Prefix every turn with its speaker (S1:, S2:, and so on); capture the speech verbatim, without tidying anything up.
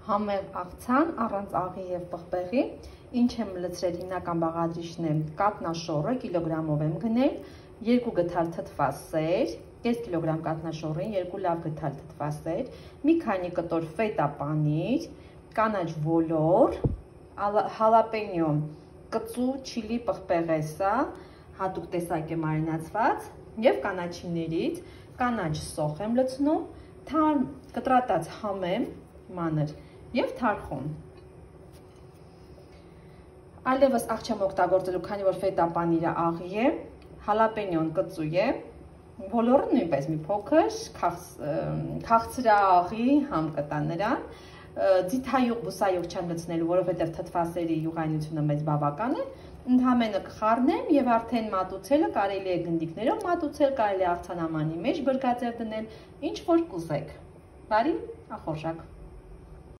S1: Համեղ աղցան առանց աղի և պղպեղի, ինչ եմ լցրել հիմնական բաղադրիչն է կատնաշոռը, կիլոգրամով եմ գնել, երկու գդալ թթված սեր, կես կիլոգրամ կատնաշոռին, երկու լավ գդալ թթված սեր, մի քանի կտոր ֆետա պանիր, կանաչ ոլոր, հալապենյո, կծու չիլի պղպեղ է սա, հատուկ տեսակ է մարինացված և կանաչիներից, կանաչ սոխ եմ լցնում, թարմ կտրատած համ եմ, մանր և թարխում։ Այլևս աղ չեմ օգտագործելու, քանի որ ֆետա պանիրը աղի է, հալապենյոն կծու է, ոլորը նույնպես մի փոքր քաղցրաղի համ կտա նրան, ձիթայուղ բուսայուղ չեմ լցնելու, որովհետև թթվասերի յուղայնությունը մեծ բավական է, ընդհանրապես կխառնեմ և արդեն մատուցելը կարելի է գնդիկներով մատուցել, կարելի է աղցանամանի մեջ բրգաձև դնել, ինչ որ կուզեք։ Բարի ախորժակ։